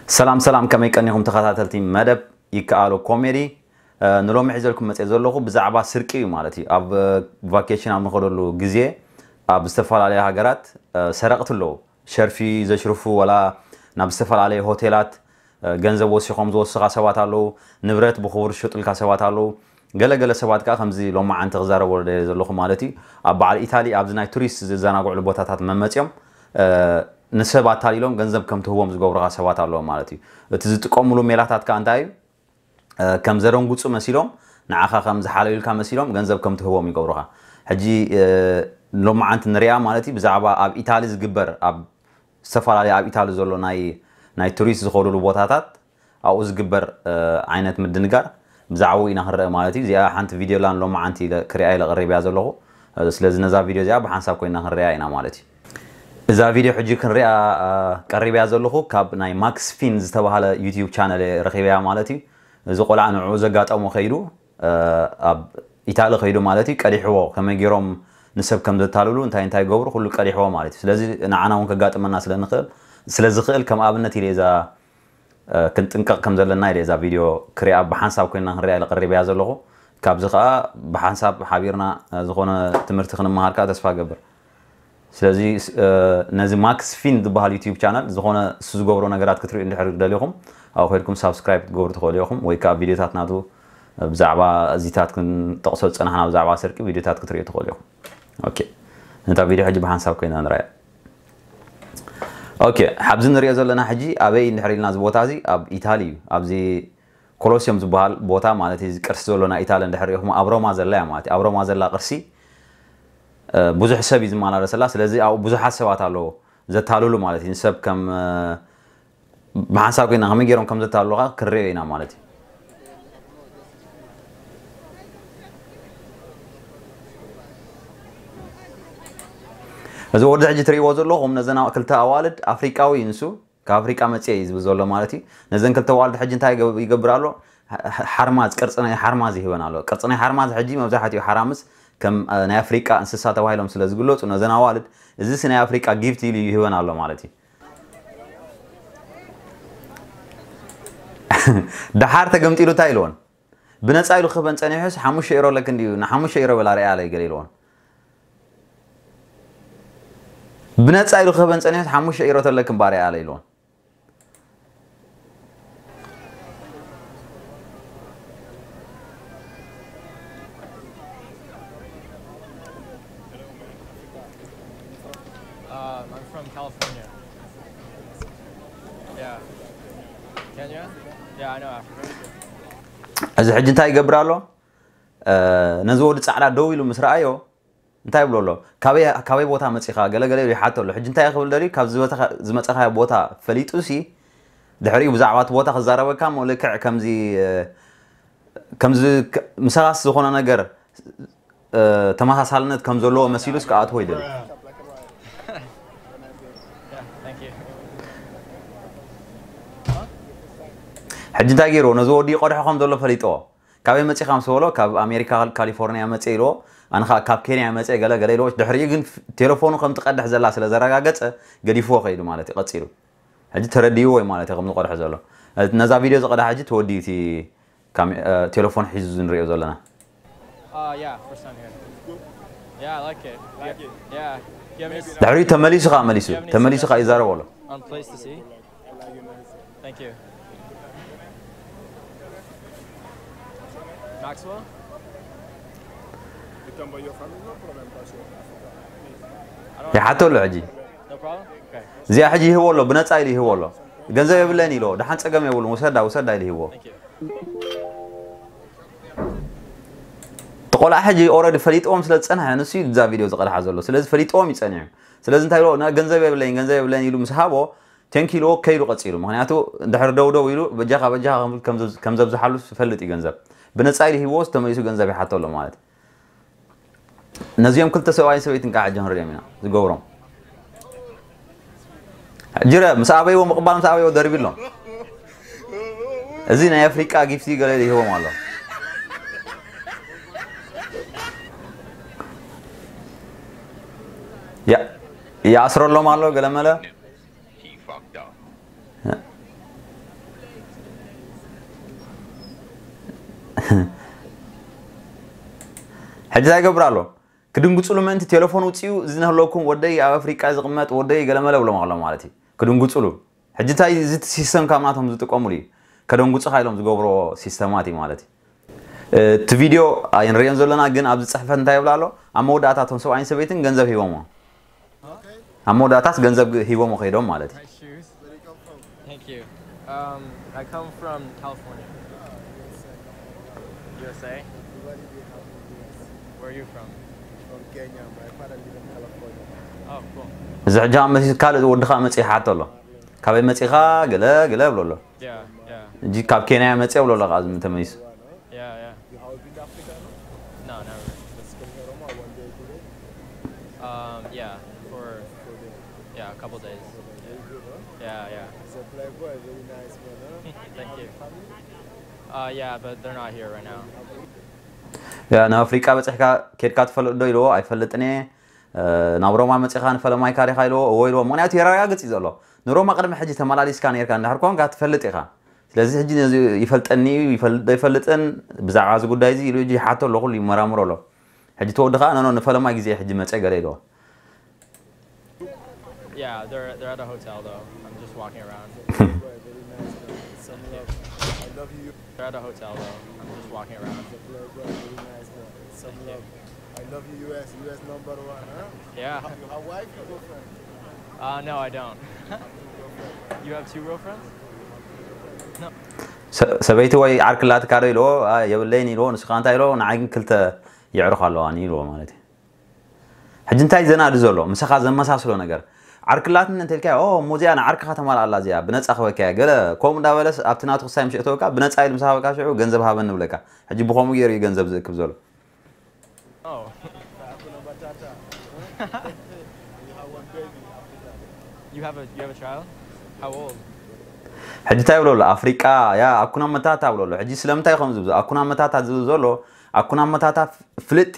ሰላም ሰላም፣ ከመይ ቀኒኹም ተኸታተልቲ መደብ ይከኣሎ ኮሜዲ? ንሎሚ ሒዘልኩም መፅእ ዘለኹ ብዛዕባ ስርቂ እዩ ማለት እዩ። ኣብ ቫኬሽን ኣብ ንኸደሉ ግዜ ኣብ ዝተፈላለዩ ሃገራት ሰረቕቲ ኣለዉ። ሸርፊ ዘሽርፉ፣ ወላ ናብ ዝተፈላለዩ ሆቴላት ገንዘብ ወሲኾም ዝወስኻ ሰባት ኣለዉ። ንብረት ብኽቡር ዝሸጡልካ ሰባት ኣለዉ። ገለገለ ሰባት ከዓ ከምዚ ሎማዓንቲ ክዛረበሉ ደልየ ዘለኹ ማለት እዩ። ኣብ በዓል ኢታሊ ኣብዚ ናይ ቱሪስት ዝዘናግዕሉ ቦታታት መመፅኦም ንሰብ ኣታሊሎም ገንዘብ ከም ትህቦም ዝገብሩኻ ሰባት ኣለዉ ማለት እዩ። እቲ ዝጥቀምሉ ሜላታት ከዓ እንታይ እዩ? ከም ዘደንጉፁ መሲሎም፣ ንዓኻ ከም ዝሓለዩልካ መሲሎም ገንዘብ ከም ትህቦም ይገብሩኻ። ሕጂ ሎማዓንቲ ንሪኣ ማለት እዩ። ብዛዕባ ኣብ ኢታሊ ዝግበር፣ ኣብ ዝተፈላለዩ ኣብ ኢታሊ ዘሎ ናይ ናይ ቱሪስት ዝኸዱሉ ቦታታት ኣብኡ ዝግበር ዓይነት ምድንጋር ብዛዕባኡ ኢና ክንረአ ማለት እዩ። እዚኣ ሓንቲ ቪድዮ ላን ሎማዓንቲ ኢለ ክሪኣ ኢለ ቀሪብያ ዘለኹ። ስለዚ ነዛ ቪድዮ እዚኣ ብሓንሳብ ኮይና ክንሪኣ ኢና ማለት እዩ። እዛ ቪድዮ ሕጂ ክንሪኣ ቀሪብያ ዘለኹ ካብ ናይ ማክስ ፊን ዝተባሃለ ዩቲዩብ ቻነል ረኺበያ ማለት እዩ። እዚ ቆልዓ ንዕኡ ዘጋጠሞ ከይዱ ኣብ ኢታሊ ከይዱ ማለት እዩ፣ ቀዲሕዎ። ከመይ ገይሮም ንሰብ ከም ዘታልሉ፣ እንታይ እንታይ ይገብሩ፣ ኩሉ ቀዲሕዎ ማለት እዩ። ስለዚ ንዓና እውን ከጋጥመና ስለንኽእል ስለዝኽእል ከም ኣብነት ኢለ እዛ ክንጥንቀቕ ከም ዘለና ኢለ እዛ ቪድዮ ክሪኣ ብሓንሳብ ኮይና ክንሪኣ ኢለ ቀሪበያ ዘለኹ። ካብዚ ከዓ ብሓንሳብ ሓቢርና ዝኾነ ትምህርቲ ክንመሃር ከዓ ተስፋ ገብር። ስለዚ ነዚ ማክስ ፊን ዝበሃል ዩቲዩብ ቻነል ዝኾነ እሱ ዝገብሮ ነገራት ክትሪኡ እንድሕር ደሊኹም ኣብኡ ከድኩም ሳብስክራይብ ክትገብሩ ትኽእሉ ኢኹም፣ ወይ ከዓ ቪድዮታት ናቱ ብዛዕባ እዚታት ክንጠቕሶ ዝፀናሕና ብዛዕባ ስርቂ ቪድዮታት ክትሪኡ ትኽእሉ ኢኹም። ኦኬ፣ ነታ ቪድዮ ሕጂ ብሓንሳብ ኮይና ንረኣያ። ኦኬ፣ ሓብዚ ንሪኦ ዘለና ሕጂ ኣበይ እንድሕር ኢልና፣ እዚ ቦታ እዚ ኣብ ኢታሊ እዩ። ኣብዚ ኮሎሲየም ዝበሃል ቦታ ማለት እዩ፣ እዚ ቅርሲ ዘሎ ናይ ኢታሊ እንድሕር ሪኢኹም፣ ኣብ ሮማ ዘላ እያ ማለት እዩ። ኣብ ሮማ ዘላ ቅርሲ ብዙሕ ሰብ እዩ ዝመላለሰላ። ስለዚ ኣብኡ ብዙሓት ሰባት ኣለዉ ዘታልሉ ማለት እዩ። ንሰብ ከም ብሓንሳብ ኮይና ከመይ ገይሮም ከም ዘታልሉኻ ክንሪኦ ኢና ማለት እዩ። እዚ ወዲ ሕጂ ትሪእዎ ዘለኹም ነዘን ክልተ ኣዋልድ ኣፍሪቃዊ እዩ ንሱ። ካብ ኣፍሪቃ መፅየ እዩ ዝብል ዘሎ ማለት እዩ። ነዘን ክልተ ኣዋልድ ሕጂ እንታይ ይገብ- ይገብር ኣሎ? ሓ- ሓርማዝ፣ ቅርፂ ናይ ሓርማዝ ይህበን ኣሎ። ቅርፂ ናይ ሓርማዝ ሕጂ መብዛሕትኡ ሓራምዝ ከም ናይ ኣፍሪቃ እንስሳ ተባሂሎም ስለ ዝግለፁ ነዘን ኣዋልድ እዚስ ናይ ኣፍሪቃ ጊፍት ኢሉ ይህበን ኣሎ ማለት እዩ። ደሓር ተገምጢሉ እንታይ ኢልዎን? ብነፃ ኢሉ ክህበን ፀኒሑስ ሓሙሽተ ዩሮ ኣለክ እንድዩ፣ ንሓሙሽተ ዩሮ በላ ርኣያ ኣለይ ገለ ኢልዎን። ብነፃ ኢሉ ክህበን ፀኒሑስ ሓሙሽተ ዩሮ ተለክን ባርያ ኣለ ኢልዎን። Um, I'm from California. Yeah. Kenya? Yeah, I know Africa. እዚ ሕጂ እንታይ ይገብር ኣሎ? ነዚ ወዲ ፃዕዳ ደው ኢሉ ምስ ረኣዮ እንታይ ይብሎ ኣሎ? ካበይ ቦታ መፂኻ ገለገለ ኢሉ ይሓቶ ኣሎ። ሕጂ እንታይ ክብል ደልዩ? ካብ ዝመፀኻዮ ቦታ ፈሊጡ ሲ ድሕሪኡ ብዛዕባ እቲ ቦታ ክዛረበካ እሞ ልክዕ ከምዚ ከምዚ ምሳኻስ ዝኾነ ነገር ተመሳሳልነት ከም ዘለዎ መሲሉስ ክኣትዎ ይደሊ። ሕጂ እንታይ ገይርዎ? ነዚ ወዲ ይቐድሖ ከም ዘሎ ፈሊጥዎ። ካበይ መፂኻ ምስ በሎ ካብ ኣሜሪካ ካሊፎርኒያ መፀ ኢልዎ። ኣነ ከዓ ካብ ኬንያ መፀ ገለ ገለ ኢልዎ። ድሕሪኡ ግን ቴሌፎኑ ከም ትቐድሕ ዘላ ስለ ዘረጋገፀ ገዲፍዎ ከይዱ ማለት እዩ። ቀፂሉ ሕጂ ተረዲእዎ እዩ ማለት እዩ ከም ዝቐድሖ ዘሎ። ነዛ ቪድዮ ዝቐድሓ ሕጂ ተወዲኡ እቲ ቴሌፎን ሒዙ ንሪኦ ዘለና። Uh, yeah, first time here. Yeah, I like it. Like it? Yeah. Do you have any ድሕሪኡ ተመሊሱ ከዓ መሊሱ ተመሊሱ ከዓ ይዛረብ ኣሎ። on place to see? Thank you. Maxwell? ይሓቶ ኣሎ ሕጂ። No problem? Okay. እዚኣ ሕጂ ይህቦ ኣሎ፣ ብነፃ ኢሉ ይህቦ ኣሎ። ገንዘብ የብለይን ኢልዎ፣ ደሓን ፀገም የብሉን፣ ውሰዳ ውሰዳ ኢሉ ይህቦ። Thank you. እቲ ቆልዓ ሕጂ ኦረዲ ፈሊጥዎም ስለ ዝፀንሐ ንሱ እዩ እዛ ቪድዮ ዝቐድሓ ዘሎ። ስለዚ ፈሊጥዎም እዩ ፀኒሑ። ስለዚ እንታይ ኢልዎ? "ና ገንዘብ የብለይን፣ ገንዘብ የብለይን" ኢሉ ምስ ሃቦ ቴንክ ኢልዎ ከይዱ ቀፂሉ። ምክንያቱ እንድሕር ደው ደው ኢሉ በጃኻ በጃኻ ከም- ከም ዘብ- ከም ዘብዝሓሉ ዝፈልጥ እዩ ገንዘብ። ብነፃ ኢሉ ሂብዎስ ተመሊሱ ገንዘብ ይሓቶ ኣሎ ማለት እዩ። ነዚኦም ክልተ ሰብኣይን ሰበይትን ከዓ ሕጂ ክንሪኦም ኢና ዝገብሮም። ሕጂ ረ ምስ ኣበይዎ ምቕባል ምስ ኣበይዎ ደርቢሎም። እዚ ናይ ኣፍሪቃ ጊፍቲ ገለ ይህቦም ኣሎ። ያ- ይኣስረሎም ኣሎ ገለመለ። He fucked up. ሕጂ እንታይ ይገብር ኣሎ? ክድንግፅሉ ምእንቲ ቴሌፎን ውፅኡ፣ እዚ ነህለኩም ወደይ ኣብ ኣፍሪቃ ዝቕመጥ ወደይ ገለመለ ብሎም ኣሎ ማለት እዩ። ክድንግፅሉ። ሕጂ እንታይ እዚ ሲስተም ካብ ናቶም ዝጥቀሙሉ እዩ። ከደንጉፅኻ ኢሎም ዝገብሮ ሲስተማት እዩ ማለት እዩ። እቲ ቪድዮ ኣይንሪኦን ዘለና፣ ግን ኣብዚ ፅሕፈት እንታይ ይብላ ኣሎ? ኣብ መወዳእታ እቶም ሰብኣይን ሰበይትን ገንዘብ ሂቦሞ። ኣብ መወዳእታስ ገንዘብ ሂቦሞ ከይዶም ማለት እዩ። Thank you. Um, I come from California. U S A. Where are you from? From Kenya. My father lives in California. Oh, cool. እዚ ሕጂ ኣብ መሲ ካልእ ወዲ ከዓ መፅእ ይሓቶ ኣሎ። ካበይ መፂኻ? ገለ ገለ ብሎ ኣሎ። Yeah, yeah, እጂ ካብ ኬንያ መፅእ ብሎ ኣሎ ከዓ ተመሊሱ። Yeah, yeah. You have been to Africa, no? No, never. Just come here, Roma, one day, two day. Um, yeah, for Four day. Yeah, a couple days. Very good, huh? Yeah, yeah. He's a playboy, very nice man, huh? Thank you. Family? Uh, yeah, but they're not here right now. ያ ናብ ኣፍሪቃ በፂሕካ ኬድካ ትፈልጥ ዶ ኢልዎ። ኣይፈልጥን እየ። ናብ ሮማ መፂኻ ንፈለማይካ ዲኻ ኢልዎ። እዎ ኢልዎ። ምክንያቱ የረጋግፅ እዩ ዘሎ። ንሮማ ቅድሚ ሕጂ ተመላሊስካ ነርካ እንድሕር ኮንካ ትፈልጥ ኢኻ። ስለዚ ሕጂ ነዚ ይፈልጠኒ እዩ ይፈልጥ ዶ ይፈልጥን ብዛዕባ እዚ ጉዳይ እዚ ኢሉ ሕጂ ይሓቶ ኣሎ። ኩሉ ይመራምሮ ኣሎ። ሕጂ ተወዲ ከዓ ነኖ ንፈለማይ ግዜ ሕጂ መፀ ገለ ኢልዎ። Yeah, they're they're at a hotel though. I'm just walking around. Very nice man. Some love. I love you. They're at a hotel though. I'm just walking around. He's a playboy, very nice man. Some love. I love you, U S. U S number one, huh? Yeah. You have wife, you girlfriend? Uh, no, I don't. You have two girlfriends? ሰበይቲ ወይ ዓርክላትካ ዶ ኢልዎ። የብለይን ኢልዎ። ንስኻ እንታይ ኢልዎ። ንዓይ ግን ክልተ የዕሩኽ ኣለዋኒ ኢልዎ ማለት እዩ። ሕጂ እንታይ ዘናዲ ዘሎ ምሳኻ ዘመሳስሎ ነገር ዓርክላትን እንተልካ ኦ እሞ እዚኣ ንዓርክኻ ተማልኣላ እዚኣ ብነፃ ክበካያ ገለ ከምኡ እንዳበለስ ኣብቲ ናቱ ክሳይ ምሸእተወካ ብነፃ ኢሉ ምስ ሃበካ ሽዑ ገንዘብ ሃበኒ ብለካ። ሕጂ ብኸምኡ ገይሩ እዩ ገንዘብ ዝእክብ ዘሎ። Oh. You have a you have a child? How old? ሕጂ እንታይ ብሎ ኣሎ ኣፍሪቃ ያ ኣኩና መታታ ብሎ ኣሎ። ሕጂ ስለምንታይ ከም ዝብዞ ኣኩና መታታ ዝብል ዘሎ ኣኩና መታታ ፍልጢ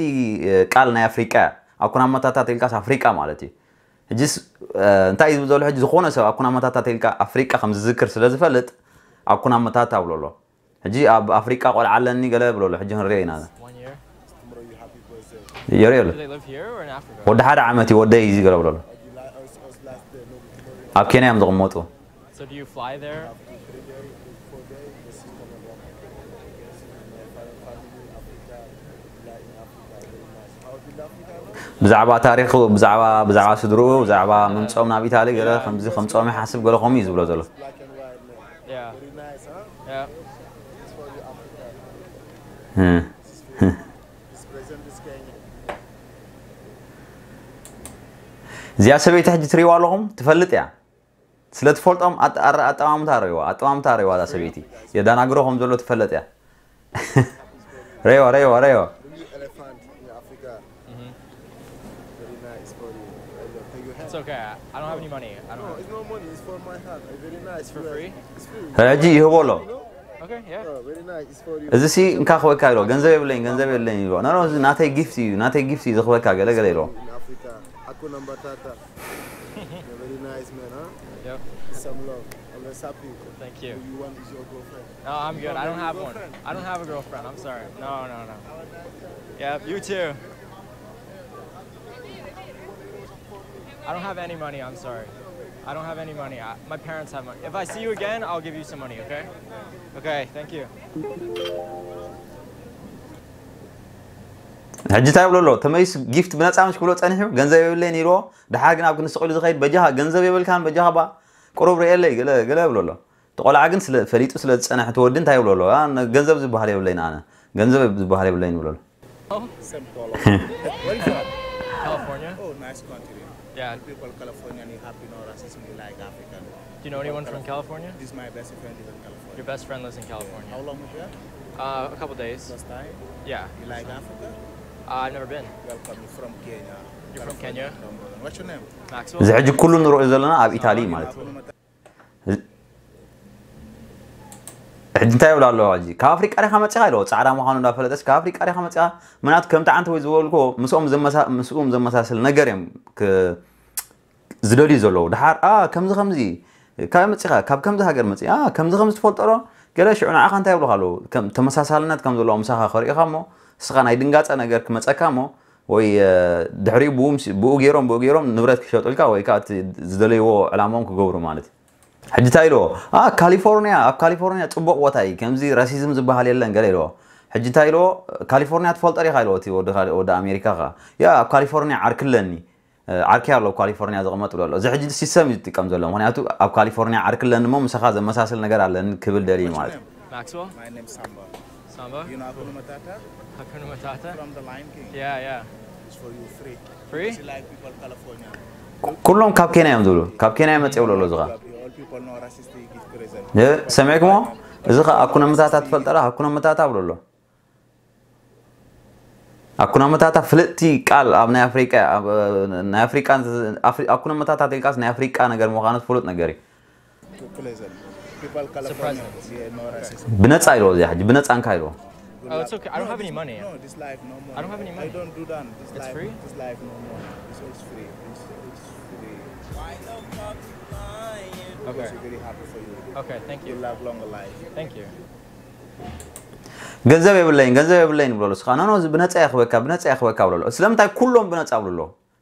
ቃል ናይ ኣፍሪቃ እያ። ኣኩና መታታ ተልካስ ኣፍሪቃ ማለት እዩ። ሕጂስ እንታይ ዝብል ዘሎ ሕጂ ዝኾነ ሰብ ኣኩና መታታ ተልካ ኣፍሪቃ ከም ዝዝክር ስለ ዝፈልጥ ኣኩና መታታ ብሎ ኣሎ። ሕጂ ኣብ ኣፍሪቃ ቆልዓ ኣለኒ ገለ ብሎ ኣሎ። ሕጂ ክንሪኦ ኢና። One year? የሪኦ ኣሎ። Do they live here or in Africa? ወዲ ሓደ ዓመት እዩ ወደይ እዚ ገለ ብሎ ኣሎ። ኣብ ኬንያ እዮም ዝቕመጡ። So do you fly there? ብዛዕባ ታሪኹ ብዛዕባ ብዛዕባ ስድርኡ ብዛዕባ ምምፅኦም ናብ ኢታሊ ገለ ከምዚ ከምፅኦም ይሓስብ ገለ ከምኡ እዩ ዝብሎ ዘሎ። Yeah. Yeah. እዚኣ ሰበይቲ ሕጂ ትሪእዋ ኣለኹም ትፈልጥ እያ። ስለ ትፈልጦም ኣጠማምታ ረይዋ ኣጠማምታ ረይዋ እዛ ሰበይቲ የዳናግሮ ከም ዘሎ ትፈለጥ እያ። ረይዋ ረይዋ ረይዋ። It's okay. I don't have any money. I don't have. It's no money. It's for my heart. Very nice. For free? It's free. ሕጂ ይህቦ ኣሎ። Okay, yeah. Oh, very nice. It's for you. እዚ ሲ እንካ ክበካ ኢሎ ገንዘብ የብለኝ ገንዘብ የብለኝ ኢሎ ኖ እዚ ናተይ ጊፍት እዩ ናተይ ጊፍት እዩ ዝኽበካ ገለ ገለ ኢሎ። In Africa, Hakuna Matata. You're very nice, man, huh? Yep. Some love. Always happy. Thank you. You want is your girlfriend? No, I'm good. I don't have one. I don't have a girlfriend. I'm sorry. No, no, no. Yep. You too. I don't have any money. I'm sorry. I don't have any money. I, my parents have money. If I see you again, I'll give you some money. Okay? Okay. Thank you. ሕጂ እንታይ ብሎ ኣሎ ተመይስ ጊፍት ብነፃ ምሽ ክብሎ ፀኒሑ ገንዘብ የብለይን ኢልዎ። ድሓር ግን ኣብ ክንስቕ ኢሉ ዝኸይድ በጃኻ ገንዘብ የብልካን በጃኻ ባ ቁሩብ ርኤለይ ገለ ገለ ብሎ ኣሎ። እቲ ቆልዓ ግን ስለ ፈሊጡ ስለ ዝፀንሐ እቲ ወዲ እንታይ ይብሎ ኣሎ? ኣ፣ ነ-፣ ገንዘብ ዝበሃል የብለይን ኣነ። ገንዘብ ዝበሃል የብለይን ይብሎ ኣሎ። Same color. Where is that? California. Oh, nice country. Yeah. People California, they happy, no racism, they like African. Do you know anyone from California? This is my best friend lives in California. Your best friend lives in California. How long was here? Uh, a couple days. First time? Yeah. You like Africa? Uh, I've never been. Welcome. You're from Kenya. You're from Kenya? Number one. What's your name? Maxwell? እዚ ሕጂ ኩሉ ንሪኦ ዘለና ኣብ ኢታሊ ማለት እዩ። ሕጂ እንታይ ይብላ ኣለዋ ሕጂ ካብ ኣፍሪቃ ዲኻ መፂኻ ኢለዎ ፃዕዳ ምዃኑ እንዳፈለጠስ ካብ ኣፍሪቃ ዲኻ መፂኻ ምናት ከምቲ ዓንተ ወይ ዝበልኩ ምስኦም ዘመሳ- ምስኦም ዘመሳስል ነገር እዮም ክ- ዝደልዩ ዘለዉ ድሓር ኣ ከምዚ ከምዚ ካብ መፂኻ ካብ ከምዚ ሃገር መፂ ኣ ከምዚ ከምዚ ትፈልጦ ዶ? ገለ ሽዑ ንዓኻ እንታይ ይብሉኻ ኣለዉ? ከም ተመሳሳልነት ከም ዘለዎ ምሳኻ ከርእኻ እሞ ንስኻ ናይ ድንጋፀ ነገር ክመፀካ እሞ ወይ ድሕሪኡ ብኡ ገይሮም ብኡ ገይሮም ንብረት ክሸጡልካ ወይ ከዓ ዝደለይዎ ዕላሞም ክገብሩ ማለት እዩ። ሕጂ እንታይ ኢልዎ? ካሊፎርኒያ ኣብ ካሊፎርኒያ ፅቡቕ ቦታ እዩ፣ ከምዚ ራሲዝም ዝበሃል የለን ገለ ኢልዎ። ሕጂ እንታይ ኢልዎ? ካሊፎርኒያ ትፈልጦ ዲኻ ኢልዎ እቲ ወዲ ኣሜሪካ ኸ። ያ ኣብ ካሊፎርኒያ ዓርኪ ኣለኒ፣ ዓርኪ ኣሎ ኣብ ካሊፎርኒያ ዝቕመጥ ኣሎ። እዚ ሕጂ ሲስተም እዩ ዝጥቀም ዘሎ፣ ምክንያቱ ኣብ ካሊፎርኒያ ዓርኪ ኣለኒ እሞ ምሳኻ ዘመሳስል ነገር ኣለኒ ክብል ደልዩ ማለት እዩ። Maxwell? My name is Samba. Samba? You know Hakuna Matata? Hakuna Matata? From the Lion King. Yeah, yeah. It's for you free. Free? It's like people California. ኩሎም ካብ ኬንያ እዮም ዝብሉ። ካብ ኬንያ መፅእ ይብሉ ኣሎ እዚ ኸ። All people know racist give present. ሰሚዕኩሞ? እዚ ኸ ኣኩነ መታታ ትፈልጠ ዶ? ኣኩነ መታታ ብሎ ኣሎ። ኣኩነ መታታ ፍልጥቲ ቃል ኣብ ናይ ኣፍሪቃ ኣብ ናይ ኣፍሪቃ ኣኩነ መታታ ተልቃስ ናይ ኣፍሪቃ ነገር ምዃኑ ፍሉጥ ነገር እዩ። Pleasant. People California. Yeah, no racist. ብነፃ ኢልዎ እዚኣ ሕጂ ብነፃ እንካ ኢልዎ። Oh, it's okay. I don't have any money. No, this life no more. I don't have any I money. Don't do that. This It's life. Free? This life no more. This is free. This is free. Okay. It's very happy for you. Okay, thank You you. Love longer life. Thank you. ገንዘብ የብለይን ገንዘብ የብለይን ብሎ ስኻ ኖ ኖ ብነፃ ይኽበካ ብነፃ ይኽበካ ብሎ ስለምንታይ ኩሎም ብነፃ ብሎ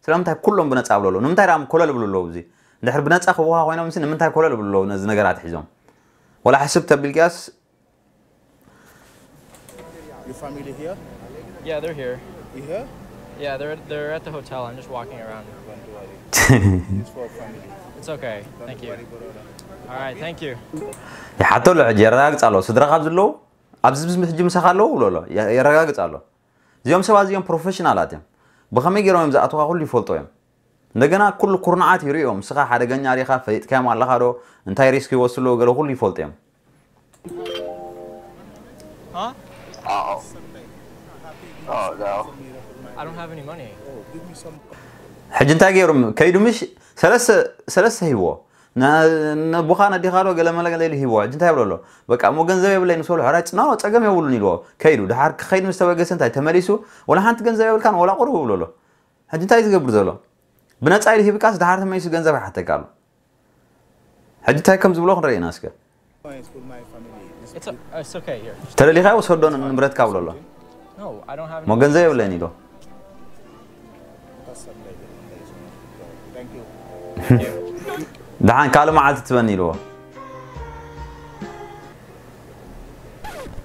ስለምንታይ ኩሎም ብነፃ ብሎ ንምንታይ ዳም ኮለል ብሎ እዚ እንድሕር ብነፃ ክብሃ ኮይኖም ንምንታይ ኮለል ብሎ ነዚ ነገራት ሒዞም ወላ ሕስብ ተቢልካስ Your family here? Yeah, they're here. You here? Yeah, they're they're at the hotel. I'm just walking around. Don't worry. It's for family. It's okay. Thank you. Worry, brother. All right, thank you. ይሓተሉ ሕጂ የረጋግፅ ኣሎ ስድራ ካብ ዘለዉ ኣብዚ ሕጂ ምሳኻ ኣለዉ ብሎ ኣሎ የረጋግፅ ኣሎ። እዚኦም ሰባት እዚኦም ፕሮፌሽናላት እዮም። ብኸመይ ገይሮም እዮም ዝኣትዋ ኩሉ ይፈልጦ እዮም። እንደገና ኩሉ ኩርናዓት ይርእዮም። ንስኻ ሓደገኛ ዲኻ ፈሊጥካዮም ኣለኻ ዶ እንታይ ሪስክ ይወስሉ ገለ ኩሉ ይፈልጡ እዮም። Huh? Oh. Oh, no. I don't have any money. ሕጂ እንታይ ገይሩ ከይዱ ምሽ ሰለስተ ሂብዎ ነቦኻ ነዲኻ ዶ ገለ መለ ገለ ኢሉ ሂብዎ ሕጂ እንታይ ይብሎ ኣሎ በቃ እሞ ገንዘብ የብለይ ንሰሉ ሕራጭ ና ፀገም የብሉን ኢልዎ ከይዱ ድሓር ክኸይድ ምስ ተበገሰ እንታይ ተመሊሱ ወላ ሓንቲ ገንዘብ የብልካን ወላ ቁሩብ ይብሎ ኣሎ ሕጂ እንታይ ዝገብር ዘሎ ብነፃ ኢሉ ሂብካስ ድሓር ተመሊሱ ገንዘብ ይሓተካ ኣሎ ሕጂ እንታይ ከም ዝብሎ ክንርኢ ኢና እስከ It's for my family. This It's a, it's okay here. ተደሊኻዮ ውሰዶ ንብረትካ ብሎ ኣሎ No, I don't have. ሞ ገንዘብ የብለይን ኢሎ That's something. Thank you. ደሓን ካልእ መዓልቲ ትበኒ ኢልዎ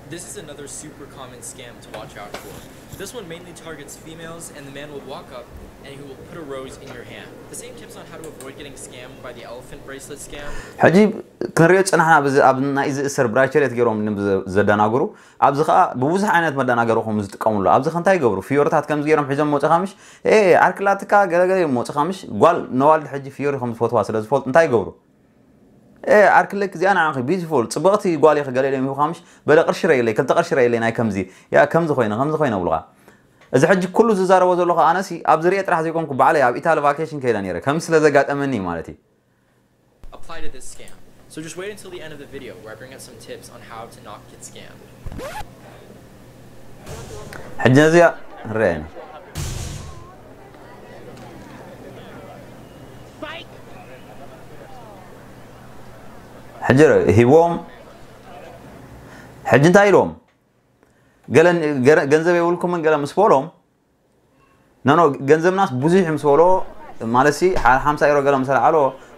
This is another super common scam to watch out for. This one mainly targets females, and the man will walk up and he will put a rose in your hand. The same tips on how to avoid getting scammed by the elephant bracelet scam. ሕጂ ክንሪኦ ዝፀናሕና ኣብ ናይ ዝእሰር ብራቸሌት ገይሮም ዘደናግሩ ኣብዚ ከዓ ብብዙሕ ዓይነት መደናገሪ ከም ዝጥቀምሉ ኣብዚ ከንታይ ይገብሩ ፍዮርታት ከምዚ ገይሮም ሒዞም መፅኻ ምሽ ዓርክላትካ ገለገለ እዮም መፅኻ ምሽ ጓል ነዋልድ ሕጂ ፍዮሪ ከም ዝፈትዋ ስለ ዝፈልጡ እንታይ ይገብሩ ዓርክለክ እዚኣ ንዓኺ ቢዩቲፉል ፅብቕቲ ጓል ኢኺ ገለ ኢሎም ይብኻ ምሽ በለ ቅርሺ ረእየለይ ክልተ ቅርሺ ረእየለይ ናይ ከምዚ ያ ከምዚ ኮይነ ከምዚ ኮይነ ብሉኻ እዚ ሕጂ ኩሉ ዝዛረቦ ዘለኹ ኣነሲ ኣብ ዝርኤ ጥራሕ ዘይኮንኩ ባዕለይ ኣብ ኢታሊ ቫኬሽን ከይደ ነይረ ከም ስለ ዘጋጠመኒ ማለት እዩ Apply to this scam. So just wait until the end of the video where I bring up some tips on how to not get scammed. ሕጂ ነዚኣ ንርአና ሕጂ ሂቦም ሕጂ እንታይ ኢሎም ገለ ገንዘብ የብልኩምን ገለ ምስ በሎም ኖኖ ገንዘብናስ ብዙሕ ምስ በሎ ማለት ሲ ሓምሳ ኤሮ ገለ ምስ ኣልዓሎ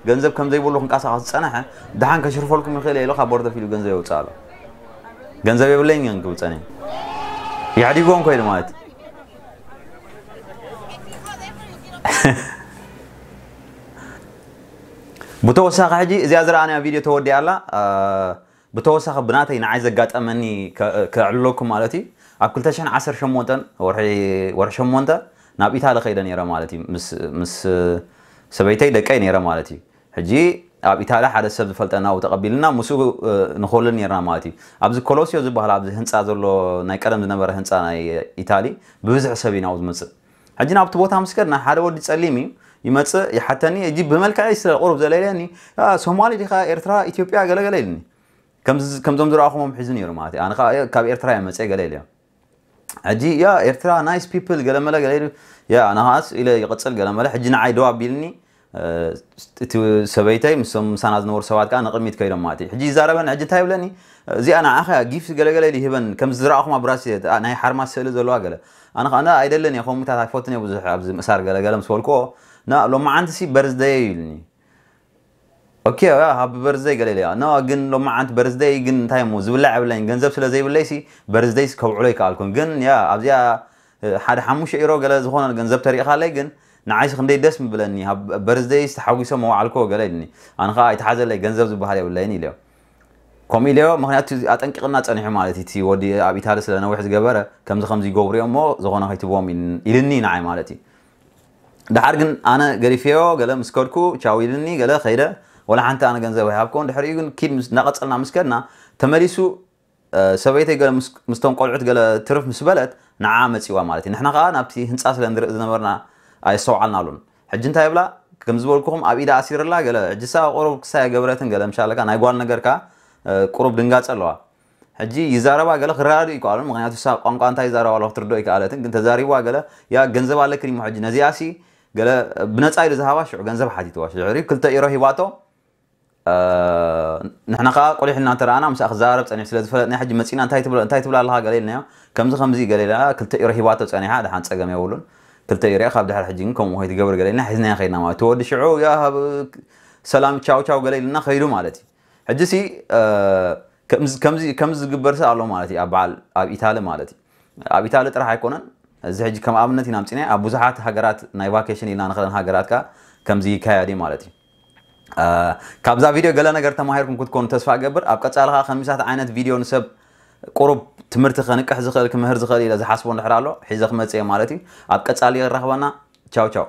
ገንዘብ ከም ዘይብሉ ክንቀሳቐስ ዝፀነሐ ደሓን ከሽርፈልኩም ይኽእል ኢሉ ካብ ቦርደፍ ኢሉ ገንዘብ የውፅእ ኣሎ ገንዘብ የብለይን ግን ክብል ፀኒሑ የሕዲጎም ኮይኑ ማለት ብተወሳኺ ሕጂ እዚኣ ዝረኣናያ ቪድዮ ተወዲኣ ኣላ ብተወሳኺ ብናተይ ንዓይ ዘጋጠመኒ ከዕልለኩም ማለት እዩ ኣብ ክልተ ሽሕን ዓሰርተ ሸሞንተን ወርሒ ወርሒ ሸሞንተ ናብ ኢታሊ ከይደ ነይረ ማለት እዩ ምስ ምስ ሰበይተይ ደቀይ ነይረ ማለት እዩ ሕጂ ኣብ ኢታሊ ሓደ ሰብ ዝፈልጠና ተቐቢልና ምስኡ ንኸውልል ነርና ማለት እዩ ኣብዚ ኮሎሲዮ ዝበሃል ኣብዚ ህንፃ ዘሎ ናይ ቀደም ዝነበረ ህንፃ ናይ ኢታሊ ብብዝሒ ሰብ እዩ ናብኡ ዝመፅእ ሕጂ ናብቲ ቦታ ምስ ከድና ሓደ ወዲ ፀሊም እዩ ይመፅእ ይሓተኒ እጂ ብመልክዐይ ስለ ቁሩብ ዘለለኒ ሶማሊ ዲኻ ኤርትራ ኢትዮጵያ ገለገለ ኢልኒ ከምዞም ዝረኣኹሞም ሒዙ ነይሩ ማለት እዩ ኣነ ካብ ኤርትራ እየ መፅአ ገለ ኢለ ሕጂ ያ ኤርትራ ናይስ ፒፕል ገለመለ ገለ ኢሉ ያ ኣነ ከዓስ ኢለ ይቕፅል ገለመለ ሕጂ ንዓይ ደው ኣቢልኒ እቲ ሰበይተይ ምስቶም ምሳና ዝነበሩ ሰባት ከዓ ንቕድሚት ከይዶም ማለት እዩ። ሕጂ ይዛረበን ሕጂ እንታይ ይብለኒ? እዚኣ ንዓኻ ጊፍት ገለገለ ኢሉ ይህበን፣ ከም ዝረኣኹም ኣብ ብራስ ናይ ሓርማስ ስእሊ ዘለዋ ገለ። ኣነ ከዓ ኣይደልን እየ፣ ከምኡታት ኣይፈትን እየ ብዙሕ ኣብዚ ምእሳር ገለገለ ምስ በልክዎ፣ ና ሎማዓንቲ ሲ በርዝደይ ኢሉኒ። ኦኬ ሃቢ በርዝደይ ገለ ኢለ፣ ኖ ግን ሎማዓንቲ በርዝደይ ግን እንታይ እሞ ዝብላዕ የብለይን፣ ገንዘብ ስለ ዘይብለይ ሲ በርዝደይ ከብዕሎ ይከኣልኩን። ግን ያ ኣብዚኣ ሓደ ሓሙሽተ ኢሮ ገለ ዝኾነ ገንዘብ ተሪእኻለይ ግን ንዓይሲ ክንደይ ደስ ምብለኒ። በርዝደይ ዝተሓጒሶ መዋዕልኮ ገለ ኢልኒ። ኣነ ከዓ ኣይተሓዘለይ፣ ገንዘብ ዝበሃል የብለይን ኢለዮ። ከምኡ ኢለዮ ምክንያቱ ኣጠንቂቕና ፀኒሑ ማለት እዩ። እቲ ወዲ ኣብ ኢታሊ ስለ ነዊሕ ዝገበረ ከምዚ ከምዚ ይገብሩ እዮም እሞ ዝኾነ ከይትብዎም ኢልኒ ንዓይ ማለት እዩ። ደሓር ግን ኣነ ገዲፈዮ፣ ገለ ምስ ከድኩ ቻው ኢልኒ፣ ገለ ከይደ። ወላ ሓንቲ ኣነ ገንዘብ ኣይሃብኮን። ድሕሪኡ ግን ኪድ እናቐፀልና ምስ ከድና ተመሊሱ ሰበይተይ ገለ ምስቶም ቆልዑት ገለ ትርፍ ምስ በለት ንዓ መፂዋ ማለት እዩ። ንሕና ከዓ ናብቲ ህንፃ ስለ ንርኢ ዝነበርና ኣየስተውዓልናሉን። ሕጂ እንታይ ይብላ? ከም ዝበልኩኹም ኣብ ኢዳ ኣሲርላ ገለ ሕጂ ሳ ቁሩብ ክሳይ ገበረትን ገለ ምሻለካ ናይ ጓል ነገርካ ቁሩብ ድንጋፀ ኣለዋ። ሕጂ ይዛረባ ገለ ክረዳድኡ ይከኣሉን፣ ምክንያቱ ሳ ቋንቋ እንታይ ይዛረባ ኣለዋ ክትርድኦ ይከኣለትን፣ ግን ተዛሪብዋ ገለ ያ ገንዘብ ኣለክን እሞ ሕጂ ነዚኣ ሲ ገለ ብነፃ ኢሉ ዝሃባ ሽዑ ገንዘብ ሓቲትዋ። ሽዑ ክልተ ኢሮ ሂባቶ። ንሕና ከዓ ቆሊሕልና እንተ ረኣና ምስኣ ክዘራረብ ፀኒሑ ስለ ዝፈለጥና ሕጂ መፂና እንታይ ትብሎ እንታይ ትብላ ኣለኻ ገለ ኢልናዮ። ከምዚ ከምዚ ገለ ኢላ ክልተ ኢሮ ሂባቶ ፀኒሓ፣ ደሓን ፀገም የብሉን። ክልተ ኢሮ ካብ ድሕሪ ሕጂ ግን ከምኡ ከይትገብር ገለ ኢልና ሒዝናዮ ከይድና ማለት እቲ ወዲ ሽዑ ያ ሃብ ሰላም ቻው ቻው ገለ ኢልና ከይዱ ማለት እዩ። ሕጂ ሲ ከምዚ ዝግበር ሲ ኣሎ ማለት እዩ ኣብ በዓል ኣብ ኢታሊ ማለት እዩ። ኣብ ኢታሊ ጥራሕ ኣይኮነን። እዚ ሕጂ ከም ኣብነት ኢና ኣምፂናዮ ኣብ ብዙሓት ሃገራት ናይ ቫኬሽን ኢልና ንኽእለን ሃገራት ከዓ ከምዚ ይካየድ እዩ ማለት እዩ። ካብዛ ቪድዮ ገለ ነገር ተማሂርኩም ክትኮኑ ተስፋ እገብር። ኣብ ቀፃሊ ከዓ ከሚሳት ዓይነት ቪድዮ ንሰብ ቁሩብ ትምህርቲ ከንቅሕ ዝኽእል ክምህር ዝኽእል ኢለ ዝሓስቦ እንድሕር ኣሎ ሒዘ ክመፅእ እየ ማለት እዩ። ኣብ ቀፃሊ ይራኽበና። ቻው ቻው።